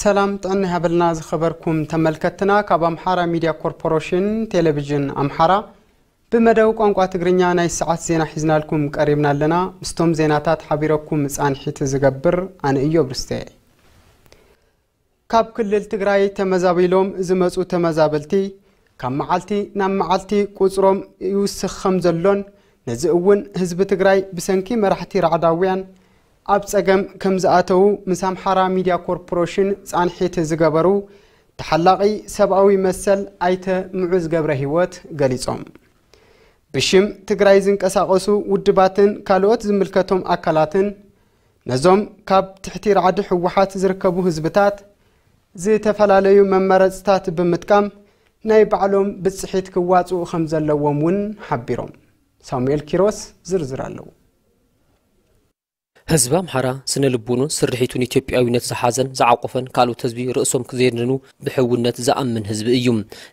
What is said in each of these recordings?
ሰላም ጥዕና ይሃበልና ዝኸበርኩም ተመልከትና። ካብ ኣምሓራ ሚድያ ኮርፖሬሽን ቴሌቪዥን ኣምሓራ ብመደብ ቋንቋ ትግርኛ ናይ ሰዓት ዜና ሒዝናልኩም ቀሪብና ኣለና። ምስቶም ዜናታት ሓቢረኩም ጻንሒት ዝገብር ኣነ እዮብ ርስተ። ካብ ክልል ትግራይ ተመዛቢሎም ዝመጹ ተመዛበልቲ ካብ መዓልቲ ናብ መዓልቲ ቁጽሮም ይውስኽ ከም ዘሎን ነዚ እውን ህዝቢ ትግራይ ብሰንኪ መራሕቲ ራዕዳውያን ኣብ ጸገም ከም ዝኣተዉ ምስ ኣምሓራ ሚድያ ኮርፖሬሽን ጻንሒት ዝገበሩ ተሓላቒ ሰብኣዊ መሰል ኣይተ ምዑዝ ገብረ ህይወት ገሊጾም። ብሽም ትግራይ ዝንቀሳቐሱ ውድባትን ካልኦት ዝምልከቶም ኣካላትን ነዞም ካብ ትሕቲ ራዕዲ ህወሓት ዝርከቡ ህዝብታት ዝተፈላለዩ መመረፅታት ብምጥቃም ናይ ባዕሎም ብፅሒት ክዋፅኡ ከም ዘለዎም እውን ሓቢሮም። ሳሙኤል ኪሮስ ዝርዝር ኣለዎ። ህዝቢ ኣምሓራ ስነ ልቡኑን ስርሒቱን ኢትዮጵያዊነት ዝሓዘን ዝዓቆፈን ካልኦት ህዝቢ ርእሶም ክዜድኑ ብሕውነት ዝኣምን ህዝቢ እዩ።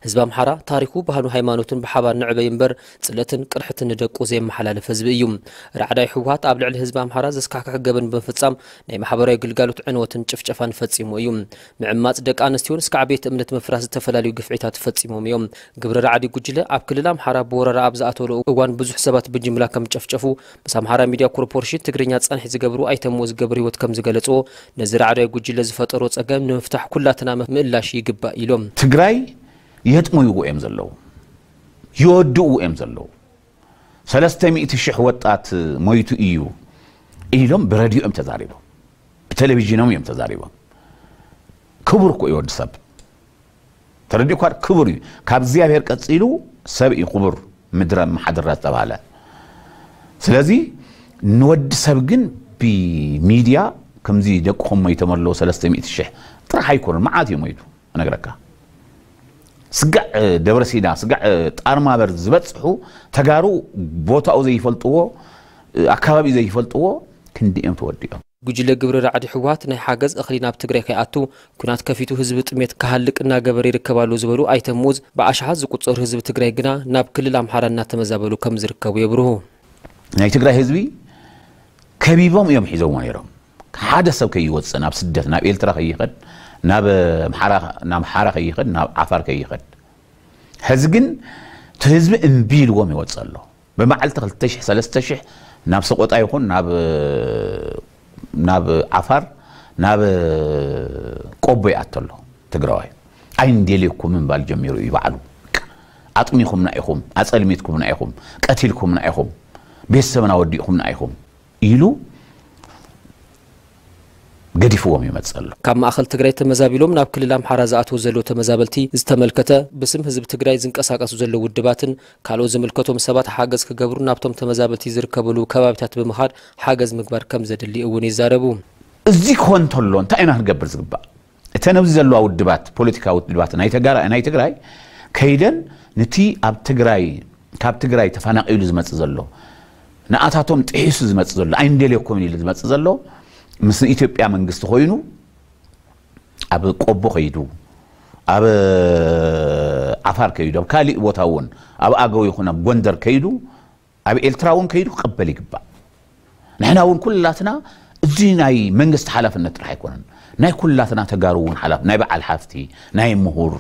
ህዝቢ ኣምሓራ ታሪኹ፣ ባህሉ፣ ሃይማኖቱን ብሓባር ንዕበይ እምበር ጽለትን ቅርሕትን ንደቁ ዘየመሓላልፍ ህዝቢ እዩ። ራዕዳይ ህወሓት ኣብ ልዕሊ ህዝቢ ኣምሓራ ዘስካሕክሕ ገበን ብምፍጻም ናይ ማሕበራዊ ግልጋሎት ዕንወትን ጭፍጨፋን ፈጺሙ እዩ። ምዕማጽ ደቂ ኣንስትዮን እስካዕ ቤት እምነት ምፍራስ ዝተፈላለዩ ግፍዒታት ፈጺሞም እዮም። ግብረ ራዕዲ ጉጅለ ኣብ ክልል ኣምሓራ ብወረራ ኣብ ዝኣተወሉ እዋን ብዙሕ ሰባት ብጅምላ ከም ጨፍጨፉ ምስ ኣምሓራ ሚድያ ኮርፖሬሽን ትግርኛ ጻንሒት ዝገብሩ ኣይተ ምዑዝ ገብረህይወት ከም ዝገለጽዎ፣ ነዚ ራዕዳይ ጉጅለ ዝፈጠሮ ጸገም ንምፍታሕ ኩላትና ምእላሽ ይግባእ ኢሎም። ትግራይ የጥምይዎ እዮም ዘለዉ፣ ይወድእዎ እዮም ዘለዉ። ሰለስተ ሚእቲ ሽሕ ወጣት ሞይቱ እዩ ኢሎም ብረድዮ እዮም ተዛሪቦም፣ ብቴሌቪዥኖም እዮም ተዛሪቦም። ክቡር እኮ እዩ ወዲ ሰብ፣ ተረዲእኳ? ክቡር እዩ። ካብ እግዚኣብሔር ቀጺሉ ሰብ እዩ ክቡር፣ ምድረ መሓድራ ዝተባህለ። ስለዚ ንወዲ ሰብ ግን ብሚድያ ከምዚ ደቅኹም ሞይቶም ኣለዉ ሰለስተ ሚእቲ ሽሕ ጥራሕ ኣይኮነን፣ መዓት እዩ ሞይቱ። እነግረካ፣ ስጋዕ ደብረ ሲና፣ ስጋዕ ጣርማበር ዝበጽሑ ተጋሩ ቦታኡ ዘይፈልጥዎ፣ ኣካባቢኡ ዘይፈልጥዎ ክንዲ እዮም ተወዲኦም። ጉጅለ ግብረ ራዕዲ ህወሓት ናይ ሓገዝ እኽሊ ናብ ትግራይ ከይኣቱ ኩናት ከፊቱ ህዝቢ ጥሜት ክሃልቅ እናገበረ ይርከብ ኣሎ ዝበሉ ኣይተ ምዑዝ፣ ብኣሽሓት ዝቁጸሩ ህዝቢ ትግራይ ግና ናብ ክልል ኣምሓራ እናተመዛበሉ ከም ዝርከቡ የብርሁ። ናይ ትግራይ ህዝቢ ከቢቦም እዮም ሒዞምዎ ነይሮም። ሓደ ሰብ ከይወፅእ፣ ናብ ስደት፣ ናብ ኤርትራ ከይኸድ፣ ናብ ኣምሓራ፣ ናብ ሓራ ከይኸድ፣ ናብ ዓፋር ከይኸድ። ሕዚ ግን እቲ ህዝቢ እምቢ ኢልዎም ይወፅእ ኣሎ። ብመዓልቲ ክልተ ሽሕ ሰለስተ ሽሕ ናብ ሰቆጣ ይኹን ናብ ናብ ዓፋር፣ ናብ ቆቦ ይኣቱ ኣሎ ትግራዋይ። ኣይንደልየኩም ምባል ጀሚሩ እዩ ባዕሉ። ኣጥሚኹምና ኢኹም፣ ኣፀልሚትኩምና ኢኹም፣ ቀቲልኩምና ኢኹም፣ ቤተሰብና ወዲእኹምና ኢኹም ኢሉ ገዲፍዎም ይመፅእ ኣሎ። ካብ ማእኸል ትግራይ ተመዛቢሎም ናብ ክልል ኣምሓራ ዝኣትዉ ዘለዉ ተመዛበልቲ ዝተመልከተ፣ ብስም ህዝቢ ትግራይ ዝንቀሳቀሱ ዘለዉ ውድባትን ካልኦት ዝምልከቶም ሰባት ሓገዝ ክገብሩ ናብቶም ተመዛበልቲ ዝርከብሉ ከባቢታት ብምኻድ ሓገዝ ምግባር ከም ዘድሊ እውን ይዛረቡ። እዚ ክኾን እንተሎ እንታይ ኢና ክንገብር ዝግባእ? እተን ኣብዚ ዘለዋ ውድባት፣ ፖለቲካዊ ውድባት ናይ ተጋራ-፣ ናይ ትግራይ ከይደን ንቲ ኣብ ትግራይ፣ ካብ ትግራይ ተፈናቒሉ ዝመጽእ ዘሎ፣ ንኣታቶም ጥሒሱ ዝመጽእ ዘሎ፣ ኣይንደልየኩምን ኢሉ ዝመጽእ ዘሎ፣ ምስ ኢትዮጵያ መንግስቲ ኮይኑ ኣብ ቆቦ ከይዱ፣ ኣብ ዓፋር ከይዱ፣ ኣብ ካሊእ ቦታ እውን ኣብ ኣገው ይኹን ኣብ ጎንደር ከይዱ፣ ኣብ ኤርትራ እውን ከይዱ ክቕበል ይግባእ። ንሕና እውን ኩላትና፣ እዚ ናይ መንግስቲ ሓላፍነት ጥራሕ ኣይኮነን፣ ናይ ኩላትና ተጋሩ እውን ሓላፍ-፣ ናይ በዓል ሓፍቲ፣ ናይ ምሁር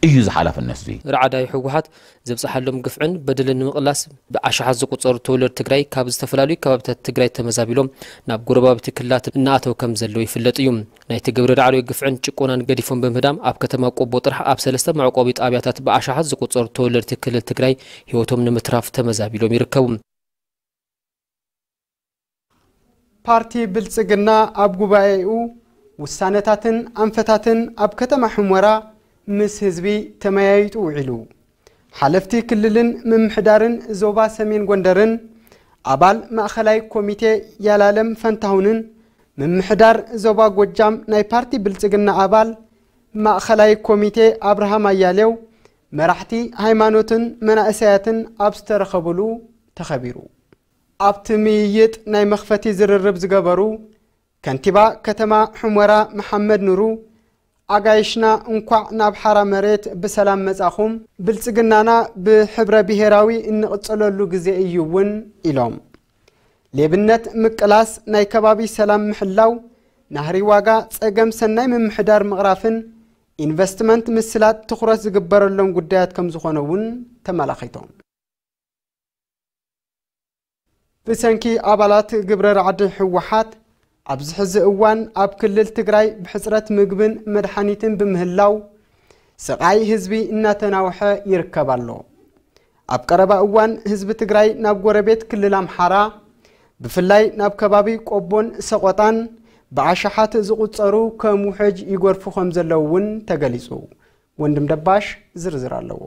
እዩ እዚ ሓላፍነት እዚ። ራዕዳይ ህወሓት ዘብፅሓሎም ግፍዕን በደልን ንምቕላስ ብኣሽሓት ዝቑፀሩ ተወለድቲ ትግራይ ካብ ዝተፈላለዩ ከባቢታት ትግራይ ተመዛቢሎም ናብ ጎረባብቲ ክልላት እናኣተው ከም ዘለዉ ይፍለጥ እዩ። ናይቲ ግብረ ራዕዳዊ ግፍዕን ጭቆናን ገዲፎም ብምህዳም ኣብ ከተማ ቆቦ ጥራሕ ኣብ ሰለስተ መዕቆቢ ጣብያታት ብኣሽሓት ዝቑፀሩ ተወለድቲ ክልል ትግራይ ህይወቶም ንምትራፍ ተመዛቢሎም ይርከቡ። ፓርቲ ብልጽግና ኣብ ጉባኤኡ ውሳነታትን ኣንፈታትን ኣብ ከተማ ሑመራ ምስ ህዝቢ ተመያይጡ ውዒሉ። ሓለፍቲ ክልልን ምምሕዳርን ዞባ ሰሜን ጎንደርን ኣባል ማእኸላይ ኮሚቴ ያላለም ፈንታሁንን ምምሕዳር ዞባ ጎጃም ናይ ፓርቲ ብልጽግና ኣባል ማእኸላይ ኮሚቴ ኣብርሃም ኣያሌው፣ መራሕቲ ሃይማኖትን መናእሰያትን ኣብ ዝተረኸብሉ ተኸቢሩ። ኣብቲ ምይይጥ ናይ መኽፈቲ ዝርርብ ዝገበሩ ከንቲባ ከተማ ሑመራ መሓመድ ኑሩ፣ ኣጋይሽና እንኳዕ ናብ ሓራ መሬት ብሰላም መጻኹም፣ ብልጽግናና ብሕብረ ብሄራዊ እንቕጽለሉ ግዜ እዩ እውን ኢሎም። ሌብነት ምቅላስ፣ ናይ ከባቢ ሰላም ምሕላው፣ ናህሪ ዋጋ ጸገም ሰናይ ምምሕዳር ምቕራፍን ኢንቨስትመንት ምስላጥ ትኹረት ዝግበረሎም ጉዳያት ከም ዝኾነ እውን ተመላኺቶም። ብሰንኪ ኣባላት ግብረ ራዕዲ ህወሓት ኣብዚ ሕዚ እዋን ኣብ ክልል ትግራይ ብሕፅረት ምግብን መድሓኒትን ብምህላው ስቓይ ህዝቢ እናተናውሐ ይርከብ ኣሎ። ኣብ ቀረባ እዋን ህዝቢ ትግራይ ናብ ጎረቤት ክልል ኣምሓራ ብፍላይ ናብ ከባቢ ቆቦን ሰቆጣን ብኣሽሓት ዝቑጸሩ ከም ውሕጅ ይጎርፉ ከም ዘለዉ እውን ተገሊጹ። ወንድም ደባሽ ዝርዝር ኣለዎ።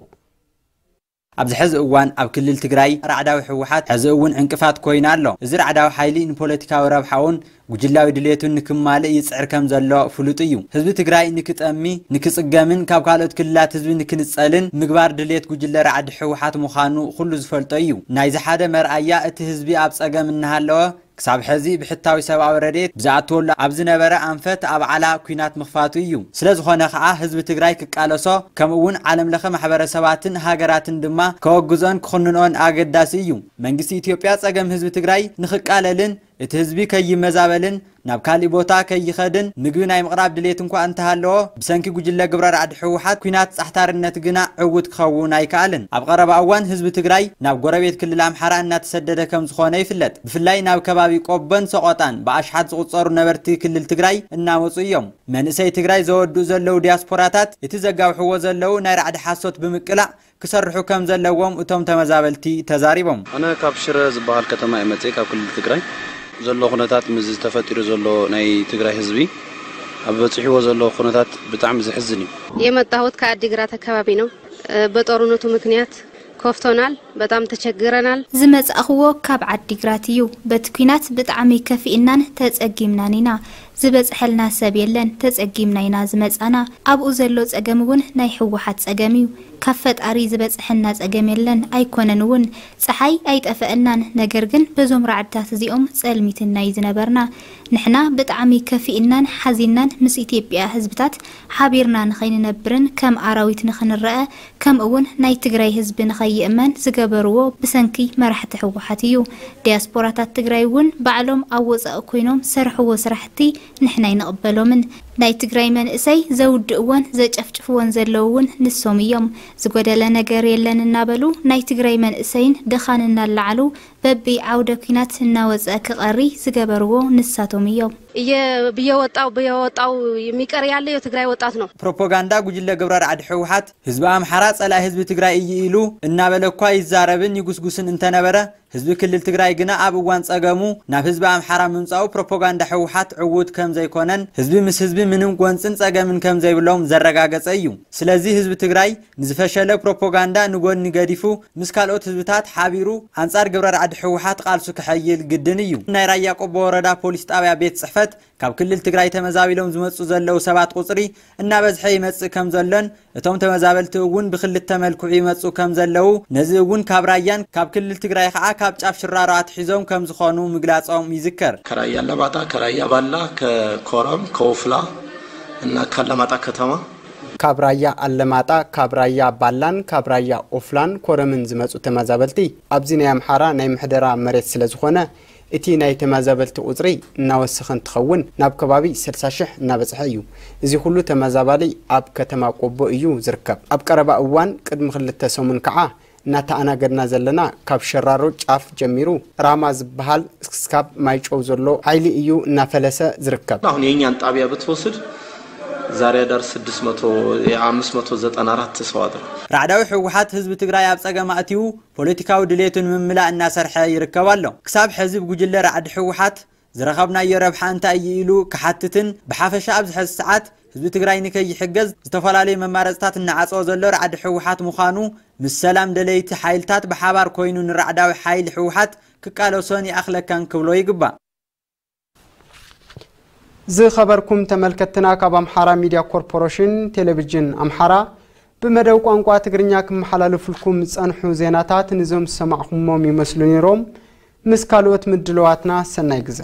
ኣብዚ ሕዚ እዋን ኣብ ክልል ትግራይ ራዕዳዊ ህወሓት ሕዚ እውን ዕንቅፋት ኮይኑ ኣሎ። እዚ ራዕዳዊ ሓይሊ ንፖለቲካዊ ረብሓኡን ጉጅላዊ ድሌቱን ንክማልእ ይጽዕር ከም ዘሎ ፍሉጥ እዩ። ህዝቢ ትግራይ ንክጠሚ፣ ንክጽገምን ካብ ካልኦት ክልላት ህዝቢ ንክንጸልን ምግባር ድሌት ጉጅለ ራዕዲ ህወሓት ምዃኑ ኩሉ ዝፈልጦ እዩ። ናይዚ ሓደ መርኣያ እቲ ህዝቢ ኣብ ጸገም እናሃለወ ክሳብ ሕዚ ብሕታዊ ሰብኣዊ ረድኤት ብዝኣትወሉ ኣብ ዝነበረ ኣንፈት ኣብ ዓላ ኲናት ምኽፋቱ እዩ። ስለ ዝኾነ ከኣ ህዝቢ ትግራይ ክቃለሶ ከምኡ እውን ዓለም ለኸ ማሕበረሰባትን ሃገራትን ድማ ከወግዞን ክኹንኖን ኣገዳሲ እዩ። መንግስቲ ኢትዮጵያ ጸገም ህዝቢ ትግራይ ንኽቃለልን እቲ ህዝቢ ከይመዛበልን ናብ ካሊእ ቦታ ከይኸድን ምግቢ ናይ ምቕራብ ድሌት እንኳ እንተሃለዎ ብሰንኪ ጉጅለ ግብረ ራዕዲ ህወሓት ኲናት ጻሕታርነት ግና ዕውት ክኸውን ኣይከኣልን። ኣብ ቀረባ እዋን ህዝቢ ትግራይ ናብ ጎረቤት ክልል ኣምሓራ እናተሰደደ ከም ዝኾነ ይፍለጥ። ብፍላይ ናብ ከባቢ ቆቦን ሰቆጣን ብኣሽሓት ዝቑጸሩ ነበርቲ ክልል ትግራይ እናመጹ እዮም። መንእሰይ ትግራይ ዘወድኡ ዘለዉ ዲያስፖራታት እቲ ዘጋውሕዎ ዘለዉ ናይ ራዕዲ ሓሶት ብምቅላዕ ክሰርሑ ከም ዘለዎም እቶም ተመዛበልቲ ተዛሪቦም። ኣነ ካብ ሽረ ዝበሃል ከተማ እየ መፅእ፣ ካብ ክልል ትግራይ። ዘሎ ኩነታት ምስ ተፈጢሩ ዘሎ ናይ ትግራይ ህዝቢ ኣብ በፂሕዎ ዘሎ ኩነታት ብጣዕሚ ዘሕዝን እዩ። የመጣሁት ከአዲግራት አካባቢ ነው። በጦርነቱ ምክንያት ከፍቶናል፣ በጣም ተቸግረናል። ዝመጻእኽዎ ካብ ዓዲግራት እዩ። በቲ ኲናት ብጣዕሚ ከፊእናን ተጸጊምናን ኢና። ዝበጽሐልና ሰብ የለን፣ ተጸጊምና ኢና ዝመጻና። ኣብኡ ዘሎ ጸገም እውን ናይ ህወሓት ጸገም እዩ። ካብ ፈጣሪ ዝበጽሐና ጸገም የለን፣ ኣይኮነን እውን። ጸሓይ ኣይጠፈአናን፣ ነገር ግን በዞም ራዕድታት እዚኦም ጸልሚትና እዩ ዝነበርና። ንሕና ብጣዕሚ ከፊእናን ሓዚንናን ምስ ኢትዮጵያ ህዝብታት ሓቢርና ንኸይንነብርን ከም ኣራዊት ንኽንረአ ከምኡ እውን ናይ ትግራይ ህዝቢ ንኸይእመን ዝገበርዎ ብሰንኪ መራሕቲ ህወሓት እዩ። ዲያስፖራታት ትግራይ እውን ባዕሎም ኣብ ወፃኢ ኮይኖም ዝሰርሕዎ ስራሕቲ ንሕና ኣይንቕበሎምን። ናይ ትግራይ መንእሰይ ዘውድእዎን ዘጨፍጭፍዎን ዘለዉ እውን ንሶም እዮም። ዝጎደለ ነገር የለን እናበሉ ናይ ትግራይ መንእሰይን ድኻን እናለዓሉ በቢ ዓውደ ኲናት እናወፀ ክቐሪ ዝገበርዎ ንሳቶም እዮም። እየ ብየወጣው ብየወጣው የሚቀር ያለ የትግራይ ወጣት ነው። ፕሮፓጋንዳ ጉጅለ ግብረ ራዕዲ ህወሓት ህዝቢ ኣምሓራ ጸላኢ ህዝቢ ትግራይ እዩ ኢሉ እናበለ እኳ ይዛረብን ይጉስጉስን እንተነበረ፣ ህዝቢ ክልል ትግራይ ግና ኣብ እዋን ጸገሙ ናብ ህዝቢ ኣምሓራ ምምጻኡ ፕሮፓጋንዳ ህወሓት ዕዉት ከም ዘይኮነን ህዝቢ ምስ ህዝቢ ምንም ጎንጽን ጸገምን ከም ዘይብሎም ዘረጋገጸ እዩ። ስለዚ ህዝቢ ትግራይ ንዝፈሸለ ፕሮፓጋንዳ ንጎኒ ገዲፉ ምስ ካልኦት ህዝብታት ሓቢሩ ኣንጻር ግብረ ራዕዲ ህወሓት ቃልሱ ክሐይል ግድን እዩ። ናይ ራያ ቆቦ ወረዳ ፖሊስ ጣብያ ቤት ጽሕፈት ካብ ክልል ትግራይ ተመዛቢሎም ዝመጹ ዘለዉ ሰባት ቁጽሪ እናበዝሐ ይመጽእ ከም ዘሎን እቶም ተመዛበልቲ እውን ብክልተ መልክዑ ይመጹ ከም ዘለዉ፣ ነዚ እውን ካብ ራያን ካብ ክልል ትግራይ ከዓ ካብ ጫፍ ሽራሮ ኣትሒዞም ከም ዝኾኑ ምግላጾም ይዝከር። ከራያ ኣለማጣ፣ ከራያ ባላ፣ ከኮረም፣ ከውፍላ እና ካለማጣ ከተማ። ካብ ራያ ኣለማጣ፣ ካብ ራያ ባላን ካብ ራያ ኦፍላን ኮረምን ዝመጹ ተመዛበልቲ ኣብዚ ናይ ኣምሓራ ናይ ምሕደራ መሬት ስለ ዝኾነ እቲ ናይ ተመዛበልቲ ቁጽሪ እናወሰኸ እንትኸውን ናብ ከባቢ ስልሳ ሽሕ እናበጽሐ እዩ። እዚ ኩሉ ተመዛባሊ ኣብ ከተማ ቆቦ እዩ ዝርከብ። ኣብ ቀረባ እዋን ቅድሚ ክልተ ሰሙን ከዓ እናተኣናገድና ዘለና ካብ ሸራሮ ጫፍ ጀሚሩ ራማ ዝበሃል እስካብ ማይጨው ዘሎ ሓይሊ እዩ እናፈለሰ ዝርከብ። አሁን የኛን ጣቢያ ብትወስድ ዛሬ ዳር ስድስት መቶ፣ የ አምስት መቶ ዘጠና አራት ሰው አድሯል። ራዕዳዊ ህወሓት ህዝቢ ትግራይ ኣብ ጸገም ኣእትዩ ፖለቲካዊ ድሌቱ ንምምላእ እናሰርሐ ይርከብ ኣሎ። ክሳብ ሕዚ ብጉጅለ ራዕዲ ህወሓት ዝረኸብናዮ ረብሓ እንታይ እዩ ኢሉ ክሓትትን ብሓፈሻ ኣብዚ ሕዚ ሰዓት ህዝቢ ትግራይ ንከይሕገዝ ዝተፈላለዩ መማረፅታት እናዓፀወ ዘሎ ራዕዲ ህወሓት ምዃኑ ምስ ሰላም ደለይቲ ሓይልታት ብሓባር ኮይኑ ንራዕዳዊ ሓይሊ ህወሓት ክቃለሶን ይኣኽለካን ክብሎ ይግባእ። ዝኸበርኩም ተመልከትና፣ ካብ ኣምሓራ ሚድያ ኮርፖሬሽን ቴሌቪዥን ኣምሓራ ብመደብ ቋንቋ ትግርኛ ክመሓላለፉልኩም ዝጸንሑ ዜናታት ንዞም ዝሰማዕኩሞም ይመስሉ ነይሮም። ምስ ካልኦት ምድለዋትና ሰናይ ግዜ።